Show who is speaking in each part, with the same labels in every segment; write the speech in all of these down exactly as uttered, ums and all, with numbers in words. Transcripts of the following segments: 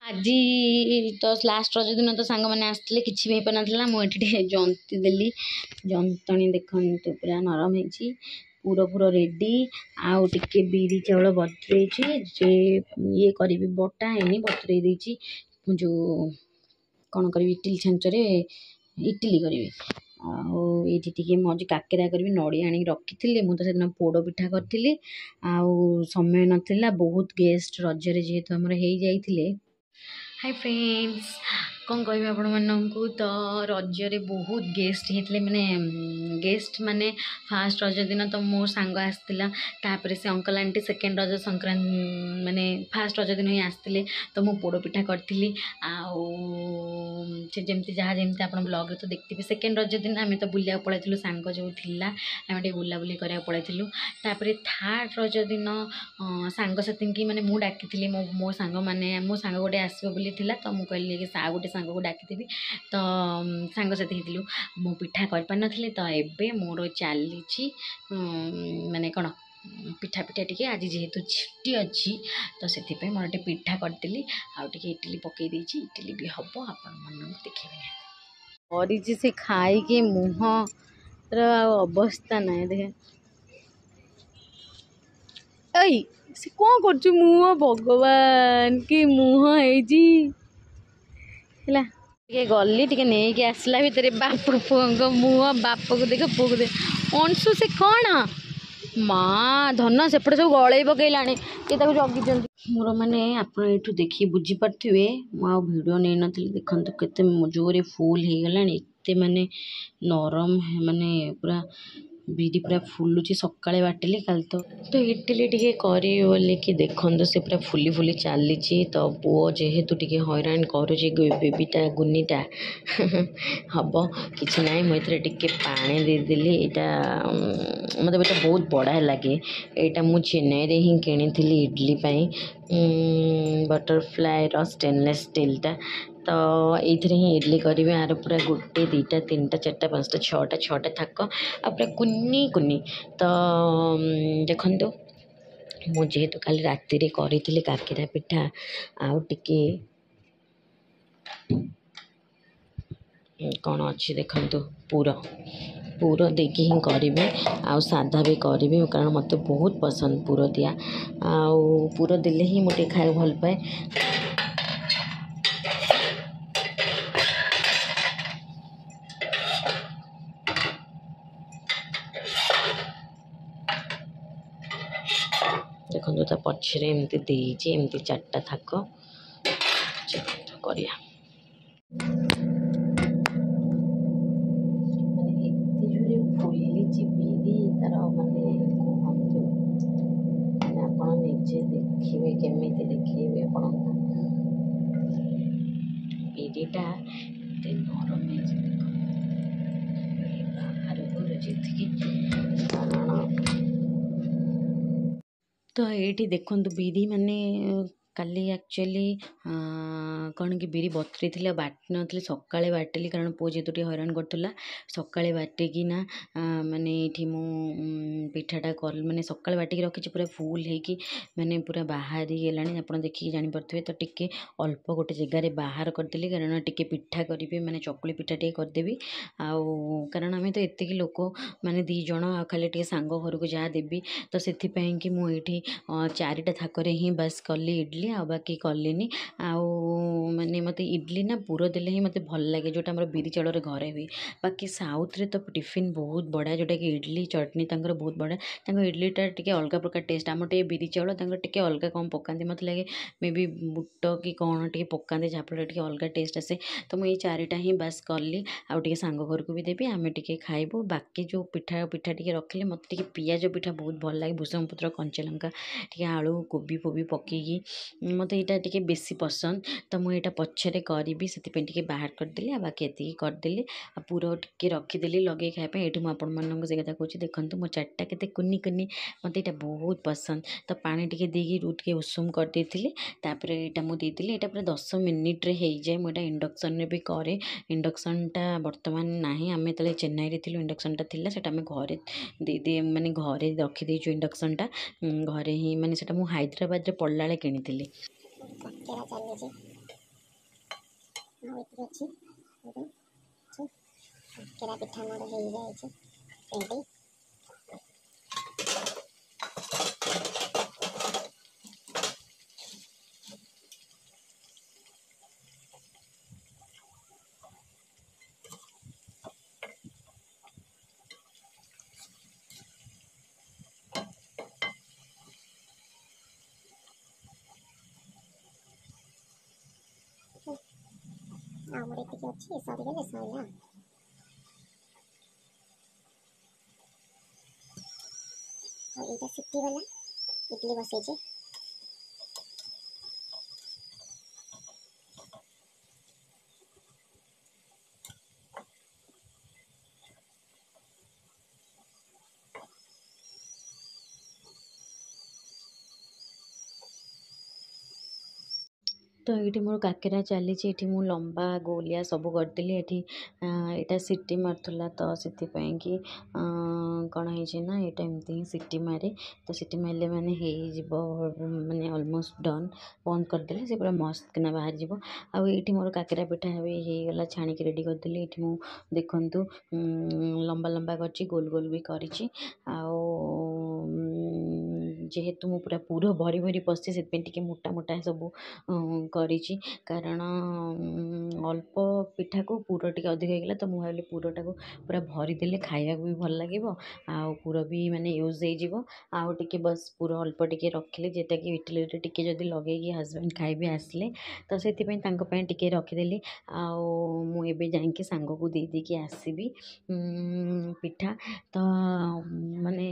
Speaker 1: ଆଜି ତ ଲାଷ୍ଟ ରଜ ଦିନ ତ ସାଙ୍ଗମାନେ ଆସିଥିଲେ, କିଛି ବି ହେଇପାରିନଥିଲା। ମୁଁ ଏଠି ଟିକେ ଜନ୍ତି ଦେଲି। ଯନ୍ତଣୀ ଦେଖନ୍ତୁ ପୁରା ନରମ ହେଇଛି, ପୁର ପୁର ରେଡ଼ି। ଆଉ ଟିକେ ବିରି ଚାଉଳ ବତୁରେଇଛି ଯେ ଇଏ କରିବି, ବଟା ହେଇନି, ବତୁରେଇ ଦେଇଛି। ଯେଉଁ କ'ଣ କରିବି, ଇଟିଲି ଛାଞ୍ଚରେ ଇଟିଲି କରିବି। ଆଉ ଏଇଠି ଟିକେ ମୁଁ ଆଜି କାକେରା କରିବି, ନଡ଼ିଆ ଆଣିକି ରଖିଥିଲି। ମୁଁ ତ ସେଦିନ ପୋଡ଼ ପିଠା କରିଥିଲି, ଆଉ ସମୟ ନଥିଲା। ବହୁତ ଗେଷ୍ଟ ରଜରେ ଯେହେତୁ ଆମର ହେଇଯାଇଥିଲେ। ହାଇ ଫ୍ରେଣ୍ଡସ୍, କ'ଣ କହିବି ଆପଣମାନଙ୍କୁ? ତ ରଜରେ ବହୁତ ଗେଷ୍ଟ ହେଇଥିଲେ, ମାନେ ଗେଷ୍ଟ ମାନେ ଫାଷ୍ଟ ରଜ ଦିନ ତ ମୋ ସାଙ୍ଗ ଆସିଥିଲା, ତାପରେ ସେ uncle aunty second Raja Sankranti ମାନେ ଫାଷ୍ଟ ରଜ ଦିନ ହିଁ ଆସିଥିଲେ। ତ ମୁଁ ପୋଡ଼ ପିଠା କରିଥିଲି, ଆଉ ସେ ଯେମିତି ଯାହା ଯେମିତି ଆପଣ ବ୍ଲଗ୍ରେ ତ ଦେଖିଥିବେ। ସେକେଣ୍ଡ ରଜ ଦିନ ଆମେ ତ ବୁଲିବାକୁ ପଳାଇଥିଲୁ, ସାଙ୍ଗ ଯେଉଁ ଥିଲା ଆମେ ଟିକେ ବୁଲାବୁଲି କରିବାକୁ ପଳାଇଥିଲୁ। ତାପରେ ଥାର୍ଡ଼ ରଜ ଦିନ ସାଙ୍ଗସାଥିଙ୍କି ମାନେ ମୁଁ ଡାକିଥିଲି, ମୋ ମୋ ସାଙ୍ଗମାନେ, ମୋ ସାଙ୍ଗ ଗୋଟେ ଆସିବ ବୋଲି ଥିଲା, ତ ମୁଁ କହିଲି କି ଆଉ ଗୋଟେ ସାଙ୍ଗକୁ ଡାକିଦେବି। ତ ସାଙ୍ଗସାଥି ହେଇଥିଲୁ। ମୁଁ ପିଠା କରିପାରିନଥିଲି, ତ ଏବେ ମୋର ଚାଲିଛି ମାନେ କ'ଣ ପିଠା ପିଠା ଟିକେ। ଆଜି ଯେହେତୁ ଛୁଟି ଅଛି, ତ ସେଥିପାଇଁ ମୋର ଟିକେ ପିଠା କରିଦେଲି, ଆଉ ଟିକେ ଇଟିଲି ପକାଇ ଦେଇଛି, ଇଟିଲି ବି ହେବ, ଆପଣମାନଙ୍କୁ ଦେଖେଇବି ନିହାତି। କରିଛି ସେ ଖାଇକି ମୁହଁର ଆଉ ଅବସ୍ଥା ନାହିଁ। ଦେଖେ ଏଇ ସେ କ'ଣ କରୁଛୁ, ମୁହଁ ଭଗବାନ କି ମୁହଁ ହେଇଛି। ହେଲା ଟିକେ ଗଲି ଟିକେ ନେଇକି ଆସିଲା ଭିତରେ ବାପ ପୁଅଙ୍କ ମୁହଁ, ବାପକୁ ଦେଖ ପୁଅକୁ ଦେଖ। ଅଂଶୁ ସେ କ'ଣ ମା ଧନ ସେପଟେ ସବୁ ଗଳେଇ ପକେଇଲାଣି, କିଏ ତାକୁ ଜଗିଛନ୍ତି। ମୋର ମାନେ ଆପଣ ଏଇଠୁ ଦେଖି ବୁଝିପାରୁଥିବେ, ମୁଁ ଆଉ ଭିଡ଼ିଓ ନେଇନଥିଲି। ଦେଖନ୍ତୁ କେତେ ଜୋରେ ଫୁଲ୍ ହେଇଗଲାଣି, ଏତେ ମାନେ ନରମ, ମାନେ ପୁରା ବିରି ପୁରା ଫୁଲୁଛି। ସକାଳେ ବାଟିଲି, କାଲି ତ ତ ଇଟିଲି ଟିକେ କରିବି ବୋଲିକି ଦେଖନ୍ତୁ ସେ ପୁରା ଫୁଲି ଫୁଲି ଚାଲିଛି। ତ ପୁଅ ଯେହେତୁ ଟିକେ ହଇରାଣ କରୁଛି ବେବିଟା ଗୁନିଟା ହବ କିଛି ନାହିଁ। ମୁଁ ଏଥିରେ ଟିକେ ପାଣି ଦେଇଦେଲି। ଏଇଟା ମୋତେ ଏଇଟା ବହୁତ ବଢ଼ିଆ ଲାଗେ। ଏଇଟା ମୁଁ ଚେନ୍ନାଇରେ ହିଁ କିଣିଥିଲି ଇଡ଼ଲି ପାଇଁ, ବଟରଫ୍ଲାଏର ଷ୍ଟେନଲେସ୍ ଷ୍ଟିଲ୍ଟା। ତ ଏଇଥିରେ ହିଁ ଇଡ଼ଲି କରିବି। ଆର ପୁରା ଗୋଟେ ଦୁଇଟା ତିନିଟା ଚାରିଟା ପାଞ୍ଚଟା ଛଅଟା ଛଅଟା ଥାକ, ଆଉ ପୁରା କୁନି କୁନି। ତ ଦେଖନ୍ତୁ ମୁଁ ଯେହେତୁ କାଲି ରାତିରେ କରିଥିଲି କାକେରା ପିଠା, ଆଉ ଟିକେ କ'ଣ ଅଛି ଦେଖନ୍ତୁ, ପୁର ପୁର ଦେଇକି ହିଁ କରିବି, ଆଉ ସାଧା ବି କରିବି, କାରଣ ମୋତେ ବହୁତ ପସନ୍ଦ ପୁର ଦିଆ। ଆଉ ପୁର ଦେଲେ ହିଁ ମୁଁ ଟିକେ ଖାଇବାକୁ ଭଲ ପାଏ। ଦେଖନ୍ତୁ ତା ପଛରେ ଏମିତି ଦେଇଛି, ଏମିତି ଚାରିଟା ଥାକ କରିବା। ମାନେ ଏତେ ଜୋରେ ଫୁଲିଛି ବିରି ତାର, ମାନେ କୁହନ୍ତୁ, ମାନେ ଆପଣ ନିଜେ ଦେଖିବେ କେମିତି ଦେଖେଇବି ଆପଣଙ୍କୁ। ବିରିଟା ଏତେ ନରମ ହେଇଛି ଦେଖନ୍ତୁ, ବାହାରକୁ ଯେତିକି କାରଣ। ତ ଏଇଠି ଦେଖନ୍ତୁ ବିରି ମାନେ କାଲି ଆକ୍ଚୁଆଲି କ'ଣ କି ବିରି ବତୁରେଇଥିଲି ଆଉ ବାଟି ନଥିଲି, ସକାଳେ ବାଟିଲି, କାରଣ ପୁଅ ଯେହେତୁ ଟିକେ ହଇରାଣ କରୁଥିଲା। ସକାଳେ ବାଟିକିନା ମାନେ ଏଇଠି ମୁଁ ପିଠାଟା କଲି, ମାନେ ସକାଳେ ବାଟିକି ରଖିଛି, ପୁରା ଫୁଲ୍ ହେଇକି ମାନେ ପୁରା ବାହାରି ଗଲାଣି, ଆପଣ ଦେଖିକି ଜାଣିପାରୁଥିବେ। ତ ଟିକେ ଅଳ୍ପ ଗୋଟେ ଜାଗାରେ ବାହାର କରିଦେଲି, କାରଣ ଟିକେ ପିଠା କରିବି, ମାନେ ଚକୁଳି ପିଠା ଟିକେ କରିଦେବି। ଆଉ କାରଣ ଆମେ ତ ଏତିକି ଲୋକ, ମାନେ ଦୁଇ ଜଣ, ଆଉ ଖାଲି ଟିକେ ସାଙ୍ଗ ଘରକୁ ଯାହା ଦେବି। ତ ସେଥିପାଇଁକି ମୁଁ ଏଇଠି ଚାରିଟା ଥାକରେ ହିଁ ବାସ୍ କଲି ଇଡ଼ଲି, ଆଉ ବାକି କଲିନି। ଆଉ ମାନେ ମୋତେ ଇଡ଼ଲି ନା ପୁର ଦେଲେ ହିଁ ମୋତେ ଭଲ ଲାଗେ, ଯେଉଁଟା ଆମର ବିରି ଚାଉଳରେ ଘରେ ହୁଏ। ବାକି ସାଉଥ୍ରେ ତ ଟିଫିନ୍ ବହୁତ ବଢ଼ିଆ, ଯେଉଁଟାକି ଇଡ଼ଲି ଚଟଣି ତାଙ୍କର ବହୁତ ବଢ଼ିଆ। ତାଙ୍କ ଇଡ଼ଲିଟା ଟିକେ ଅଲଗା ପ୍ରକାର ଟେଷ୍ଟ, ଆମର ଟିକେ ବିରି ଚାଉଳ, ତାଙ୍କର ଟିକେ ଅଲଗା କ'ଣ ପକାନ୍ତି, ମୋତେ ଲାଗେ ମେ ବି ବୁଟ କି କ'ଣ ଟିକେ ପକାନ୍ତି, ଯାହାଫଳରେ ଟିକେ ଅଲଗା ଟେଷ୍ଟ ଆସେ। ତ ମୁଁ ଏଇ ଚାରିଟା ହିଁ ବାସ୍ କଲି, ଆଉ ଟିକେ ସାଙ୍ଗ ଘରକୁ ବି ଦେବି, ଆମେ ଟିକେ ଖାଇବୁ। ବାକି ଯେଉଁ ପିଠା ପିଠା ଟିକେ ରଖିଲେ, ମୋତେ ଟିକେ ପିଆଜ ପିଠା ବହୁତ ଭଲ ଲାଗେ, ଭୃସଙ୍ଗ ପତ୍ର କଞ୍ଚା ଲଙ୍କା ଟିକେ ଆଳୁ କୋବି ଫୋବି ପକେଇକି ମୋତେ ଏଇଟା ଟିକେ ବେଶୀ ପସନ୍ଦ। ତ ମୁଁ ଏଇଟା ପଛରେ କରିବି, ସେଥିପାଇଁ ଟିକେ ବାହାର କରିଦେଲି, ଆଉ ବାକି ଏତିକି କରିଦେଲି, ଆଉ ପୁର ଟିକେ ରଖିଦେଲି ଲଗେଇ ଖାଇବା ପାଇଁ। ଏଇଠି ମୁଁ ଆପଣମାନଙ୍କୁ ସେ କଥା କହୁଛି, ଦେଖନ୍ତୁ ମୋ ଚାରିଟା କେତେ କୁନି କୁନି, ମୋତେ ଏଇଟା ବହୁତ ପସନ୍ଦ। ତ ପାଣି ଟିକେ ଦେଇକି ଟିକେ ଉଷୁମ କରିଦେଇଥିଲି, ତାପରେ ଏଇଟା ମୁଁ ଦେଇଥିଲି। ଏଇଟା ପୁରା ଦଶ ମିନିଟ୍ରେ ହେଇଯାଏ। ମୁଁ ଏଇଟା ଇଣ୍ଡକ୍ସନ୍ରେ ବି କରେ, ଇଣ୍ଡକ୍ସନ୍ଟା ବର୍ତ୍ତମାନ ନାହିଁ, ଆମେ ଯେତେବେଳେ ଚେନ୍ନାଇରେ ଥିଲୁ ଇଣ୍ଡକ୍ସନ୍ଟା ଥିଲା, ସେଇଟା ଆମେ ଘରେ ଦେଇଦିଏ, ମାନେ ଘରେ ରଖିଦେଇଛୁ ଇଣ୍ଡକ୍ସନ୍ଟା ଘରେ ହିଁ, ମାନେ ସେଇଟା ମୁଁ ହାଇଦ୍ରାବାଦରେ ପଢ଼ିଲା ବେଳେ କିଣିଥିଲି।
Speaker 2: କାକେରା ଚାଲିଛି। ଆଉ ଏତିକି ଅଛି। କାକେରା ପିଠା ମୋର ହେଇଯାଇଛି ରେଡ଼ି। ଆଉ ମୋର ଏତିକି ଅଛି, ସରିଗଲେ ସରିଲା। ଆଉ ଏଇଟା ସିଟି ଗଲା, ଇଡଲି ବସେଇଛି।
Speaker 1: ତ ଏଇଠି ମୋର କାକେରା ଚାଲିଛି। ଏଠି ମୁଁ ଲମ୍ବା ଗୋଲିଆ ସବୁ କରିଦେଲି। ଏଠି ଏଇଟା ସିଟି ମାରୁଥିଲା, ତ ସେଥିପାଇଁ କି କ'ଣ ହେଇଛି ନା ଏଇଟା ଏମିତି ହିଁ ସିଟି ମାରେ। ତ ସିଟି ମାରିଲେ ମାନେ ହେଇଯିବ, ମାନେ ଅଲମୋଷ୍ଟ ଡନ୍। ବନ୍ଦ କରିଦେଲେ ସେ ପୁରା ମସ୍ତ କିନା ବାହାରିଯିବ। ଆଉ ଏଇଠି ମୋର କାକେରା ପିଠା ବି ହେଇଗଲା, ଛାଣିକି ରେଡ଼ି କରିଦେଲି। ଏଇଠି ମୁଁ ଦେଖନ୍ତୁ ଲମ୍ବା ଲମ୍ବା କରିଛି, ଗୋଲ ଗୋଲ ବି କରିଛି। ଆଉ ଯେହେତୁ ମୁଁ ପୁରା ପୁର ଭରି ଭରି ପଶିଛି, ସେଥିପାଇଁ ଟିକେ ମୋଟା ମୋଟା ସବୁ କରିଛି, କାରଣ ଅଳ୍ପ ପିଠାକୁ ପୁର ଟିକେ ଅଧିକ ହେଇଗଲା। ତ ମୁଁ ଭାବିଲି ପୁରଟାକୁ ପୁରା ଭରିଦେଲେ ଖାଇବାକୁ ବି ଭଲ ଲାଗିବ ଆଉ ପୁର ବି ମାନେ ୟୁଜ୍ ହେଇଯିବ। ଆଉ ଟିକେ ବସ୍ ପୁର ଅଳ୍ପ ଟିକେ ରଖିଲି, ଯେଉଁଟାକି ଇଟିଲିରେ ଟିକେ ଯଦି ଲଗେଇକି ହଜବେଣ୍ଡ ଖାଇବେ ଆସିଲେ, ତ ସେଥିପାଇଁ ତାଙ୍କ ପାଇଁ ଟିକେ ରଖିଦେଲି। ଆଉ ମୁଁ ଏବେ ଯାଇକି ସାଙ୍ଗକୁ ଦେଇ ଦେଇକି ଆସିବି ପିଠା। ତ ମାନେ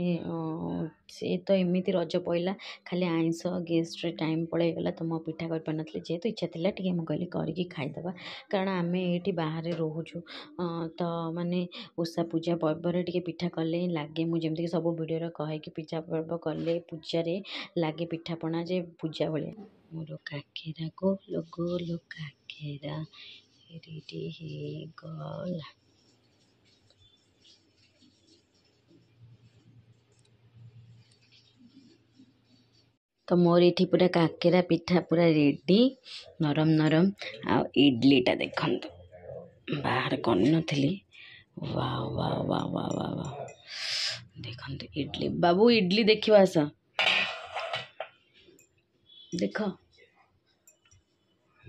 Speaker 1: ସେ ତ ଏମିତି ରଜ ପଇଲା, ଖାଲି ଆଇଁଷ ଗେଷ୍ଟରେ ଟାଇମ୍ ପଳେଇଗଲା, ତ ମୁଁ ପିଠା କରିପାରିନଥିଲି। ଯେହେତୁ ଇଚ୍ଛା ଥିଲା ଟିକେ, ମୁଁ କହିଲି କରିକି ଖାଇଦେବା, କାରଣ ଆମେ ଏଇଠି ବାହାରେ ରହୁଛୁ। ତ ମାନେ ଓଷା ପୂଜା ପର୍ବରେ ଟିକେ ପିଠା କଲେ ହିଁ ଲାଗେ। ମୁଁ ଯେମିତିକି ସବୁ ଭିଡ଼ିଓରେ କହେ କି ପୂଜା ପର୍ବ କଲେ ପୂଜାରେ ଲାଗେ ପିଠାପଣା ଯେ ପୂଜା ଭଳିଆ। ମୋର କାକେରା ଗୋଲ ଗୋଲ କାକେରା ରେଡ଼ି ହେଇଗଲା। ତ ମୋର ଏଇଠି ପୁରା କାକେରା ପିଠା ପୁରା ରେଡ଼ି, ନରମ ନରମ। ଆଉ ଇଡ଼ଲିଟା ଦେଖନ୍ତୁ, ବାହାର କରିନଥିଲି। Wow wow wow wow wow wow, ଦେଖନ୍ତୁ ଇଡ଼ଲି। ବାବୁ, ଇଡ଼ଲି ଦେଖିବ, ଆସ ଦେଖ।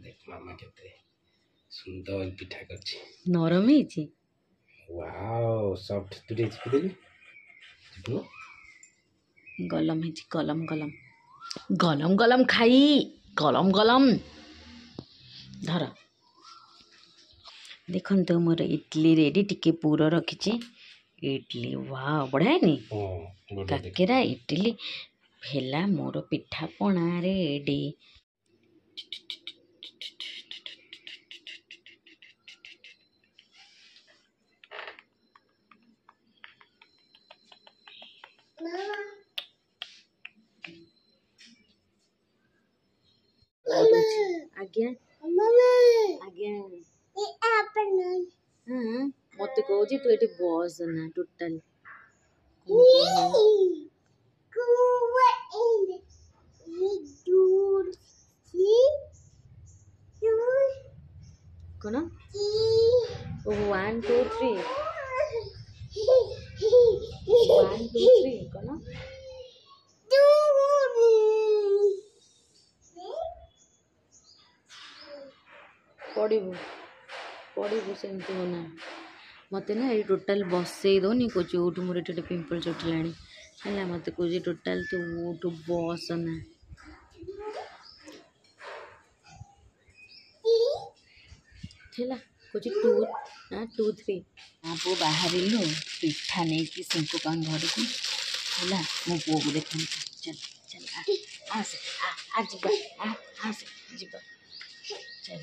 Speaker 3: ଦେଖ ମାମା କେତେ ସୁନ୍ଦର ପିଠା କରିଛି।
Speaker 1: ନରମ ହେଇଛି।
Speaker 3: Wow, soft. ତୁ ଟିକେ ଚିପିଦେଲୁ, ଚିପୁନୁ।
Speaker 1: ଗଲମ ହେଇଛି, ଗଲମ ଗଲମ ଗଲମ ଗଲମ, ଖାଇ ଗଲମ ଗଲମ ଧର। ଦେଖନ୍ତୁ ମୋର ଇଡ଼ଲି ରେଡ଼ି। ଟିକେ ପୁର ରଖିଛି। ଇଡ଼ଲି ୱାଓ, ବଢ଼ିଆ ହେଇନି? କାକେରା ଇଟିଲି ହେଲା, ମୋର ପିଠାପଣା ରେଡ଼ି। ଆଜ୍ଞା ଆଜ୍ଞା। ମତେ କହୁଛି ତୁ ଏଠି ବସ ନା ଟୋଟାଲ। କ'ଣ one two three, one two three କ'ଣ ପଡ଼ିବୁ ପଡ଼ିବୁ, ସେମିତି ହନା। ମୋତେ ନା ଏଇ ଟୋଟାଲ ବସେଇ ଦେଉନି। କହୁଛି ଉଠୁ। ମୋର ଏଠି ଗୋଟେ ପିମ୍ପଲ୍ସ ଉଠିଲାଣି ହେଲା। ମୋତେ କହୁଛି ଟୋଟାଲ ତୁ ଉଠୁ, ବସ ନା। ହେଲା, କହୁଛି ଟୁ ନା ଟୁ ଥ୍ରୀ। ମା ପୁଅ ବାହାରିଲୁ ପିଠା ନେଇକି ସିଙ୍କୁ ଘରକୁ। ହେଲା, ମୋ ପୁଅକୁ ଦେଖନ୍ତୁ। ଚାଲ ଚାଲ, ଆସ ଆ, ଯିବା, ଆସ ଯିବା, ଚାଲ।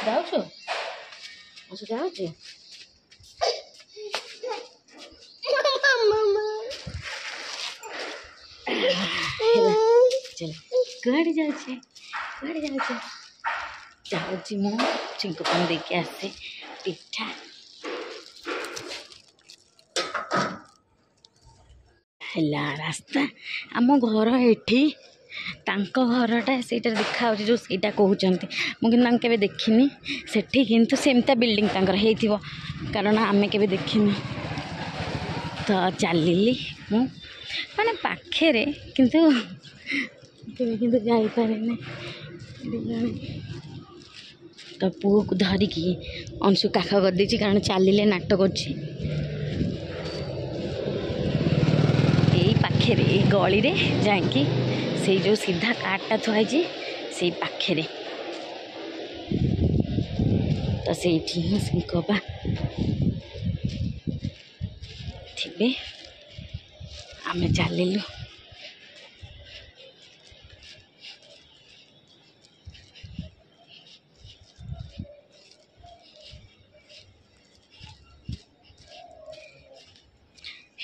Speaker 1: ଯାଉଛୁ? ଆସ, ଯାଉଛି। ହେଲା, ଚାଲ। କୁଆଡ଼େ ଯାଉଛି? କୁଆଡ଼େ ଯାଉଛି? ଯାଉଛି ମୁଁ ଛିଙ୍କ ପାଣି ଦେଇକି ଆସେ ପିଠା। ହେଲା ରାସ୍ତା, ଆମ ଘର ଏଠି। ତାଙ୍କ ଘରଟା ସେଇଟା ଦେଖାହେଉଛି ଯେଉଁ ସେଇଟା କହୁଛନ୍ତି, ମୁଁ କିନ୍ତୁ ତାଙ୍କୁ କେବେ ଦେଖିନି ସେଠି। କିନ୍ତୁ ସେମିତିଆ ବିଲ୍ଡିଂ ତାଙ୍କର ହେଇଥିବ, କାରଣ ଆମେ କେବେ ଦେଖିନୁ। ତ ଚାଲିଲି ମୁଁ ମାନେ ପାଖରେ, କିନ୍ତୁ କେବେ କିନ୍ତୁ ଯାଇପାରେନି। ତ ପୁଅକୁ ଧରିକି ଅଂଶୁ କାଖ କରିଦେଇଛି, କାରଣ ଚାଲିଲେ ନାଟ କରୁଛି। ଏଇ ପାଖରେ ଏଇ ଗଳିରେ ଯାଇକି ସେଇ ଯେଉଁ ସିଧା କାର୍ଟା ଥୁଆ ହେଇଛି ସେଇ ପାଖରେ, ତ ସେଇଠି ହିଁ ସିଙ୍କପା ଥିବେ। ଆମେ ଚାଲିଲୁ।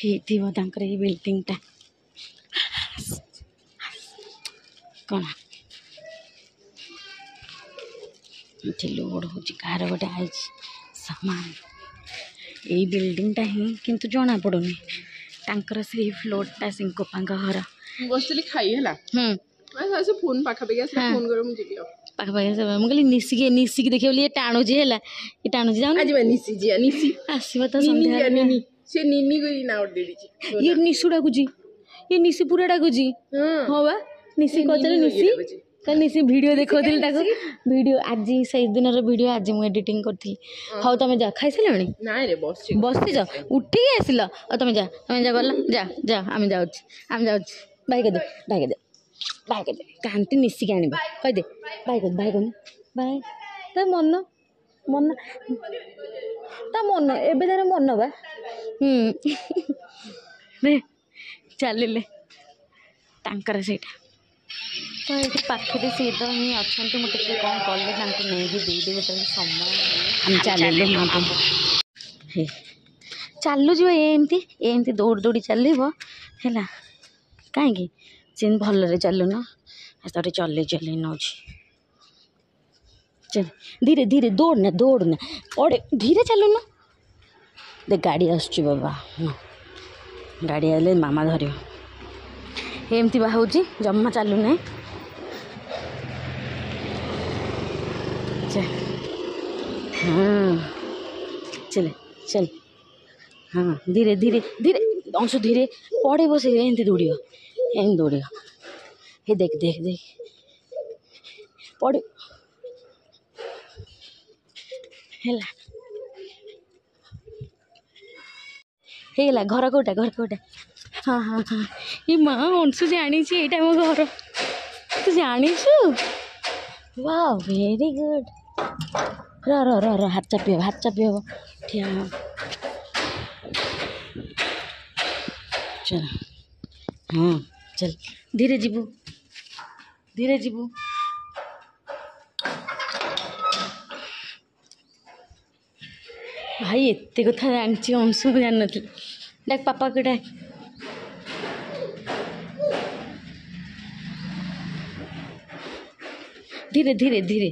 Speaker 1: ହେଇଥିବ ତାଙ୍କର ଏଇ ବିଲ୍ଡିଂଟା କ'ଣ ଏଠି ଲୋଡ଼ ହେଉଛି, କାହାର ଗୋଟେ ଆଇଛି ସାମାନ। ଏଇ ବିଲ୍ଡିଂଟା ହିଁ କିନ୍ତୁ ଜଣା ପଡ଼ୁନି ତାଙ୍କର ସେଇ ଫ୍ଲୋରଟା ସିଙ୍କୋପାଙ୍କ ଘର।
Speaker 4: ମୁଁ ବସିଥିଲି ଖାଇ ହେଲା।
Speaker 1: ହୁଁ
Speaker 4: ସେ ଫୋନ୍ ପାଖାପାଖି ଆସିଲେ ଫୋନ୍ କର, ମୁଁ ଯିବି। ଆଉ
Speaker 1: ପାଖାପାଖି ଆସିବ। ମୁଁ କହିଲି ନିଶିକି ନିଶିକି ଦେଖିବ ବୋଲି। ଇଏ ଟାଣୁଛି ହେଲା, ଇଏ ଟାଣୁଛି। ଯାଉନ
Speaker 4: ଯିବା, ନିଶି ଯିବା, ନିଶି
Speaker 1: ଆସିବ ତ ସନ୍ଧ୍ୟା।
Speaker 4: ନିନି, ସେ ନିନି କରି ନାଁ ଗୋଟେ ଦେଇଛି।
Speaker 1: ଇଏ ନିଶୁ ଡାକୁଛି, ଇଏ ନିଶି ପୁରା ଡାକୁଛି। ହଁ ବା, ନିଶି କହୁଥିଲେ, ନିଶି କାଲି ନିଶି ଭିଡ଼ିଓ ଦେଖାଉଥିଲି ତାକୁ। ଭିଡ଼ିଓ ଆଜି ସେଇ ଦିନର ଭିଡ଼ିଓ ଆଜି ମୁଁ ଏଡ଼ିଟିଂ କରିଥିଲି। ହଉ ତମେ ଯା। ଖାଇସାରିଲଣି?
Speaker 4: ନାଇଁ ରେ, ବସିଛି।
Speaker 1: ବସିଛ, ଉଠିକି ଆସିଲ। ଆଉ ତମେ ଯା, ତମେ ଯା, ଗଲ, ଯା ଯା। ଆମେ ଯାଉଛୁ, ଆମେ ଯାଉଛୁ। ବାଇ କରିଦେ, ବାଇ କରିଦେ, ବାଇ କରିଦେ। କାନ୍ତି ମିଶିକି ଆଣିବ, କହିଦେ ବାଇ କରିଦେ, ବାଇ କରୁନୁ, ବାଇ। ତା ମନ ମନ ତା ମନ ଏବେ ତାର ମନ ବା। ହୁଁ ଚାଲିଲେ ତାଙ୍କର ସେଇଟା ତ ଏଇଠି ପାଖରେ ସିଏ ତ ହିଁ ଅଛନ୍ତି। ମୁଁ ଟିକେ କ'ଣ କଲେ ତାଙ୍କୁ ନେଇକି ଦେଇଦେବି ଯେତେବେଳେ ସମୟ। ଆମେ ଚାଲିଲୁ। ହେ ଚାଲୁଯିବ ଏମିତି ଏମିତି ଦୌଡ଼ି ଦୌଡ଼ି ଚାଲିବ ହେଲା। କାହିଁକି ସେମିତି ଭଲରେ ଚାଲୁନ? ତାକୁ ଚଲେଇ ଚଲେଇ ନେଉଛି। ଚାଲ ଧୀରେ ଧୀରେ, ଦୌଡ଼ନା ଦୌଡ଼ନା, ପଡ଼େ। ଧୀରେ ଚାଲୁନ। ଦେଖ ଗାଡ଼ି ଆସୁଛି ବାବା। ହଁ, ଗାଡ଼ି ଆଇଲେ ମାମା ଧରିବ। ଏମିତି ବା ହେଉଛି, ଜମା ଚାଲୁନାହିଁ। ହଁ ଚଲେ ଚାଲ। ହଁ ଧୀରେ ଧୀରେ ଧୀରେ ଅଂଶୁ, ଧୀରେ, ପଡ଼ିବ ସେ। ଏମିତି ଦୌଡ଼ିବ, ଏମିତି ଦୌଡ଼ିବ। ହେ ଦେଖ ଦେଖ ଦେଖ, ପଡ଼ିବ ହେଲା। ହେଇଗଲା। ଘର କେଉଁଟା? ଘର କେଉଁଟା? ହଁ ହଁ ହଁ। ଏ ମା, ଅଂଶୁ ଜାଣିଛି ଏଇଟା ମୋ ଘର। ତୁ ଜାଣିଛୁ? Wow, very good. ର ର ର ର, ହାତ ଚାପି ହେବ, ହାତ ଚାପି ହେବ। ଠିଆ ଚାଲ। ହଁ ଚାଲ, ଧୀରେ ଯିବୁ, ଧୀରେ ଯିବୁ। ଭାଇ ଏତେ କଥା ଜାଣିଛି ଅଂଶୁ, ମୁଁ ଜାଣିନଥିଲି। ଡାକ ପାପାକୁ ଡାକ। ଧୀରେ ଧୀରେ ଧୀରେ।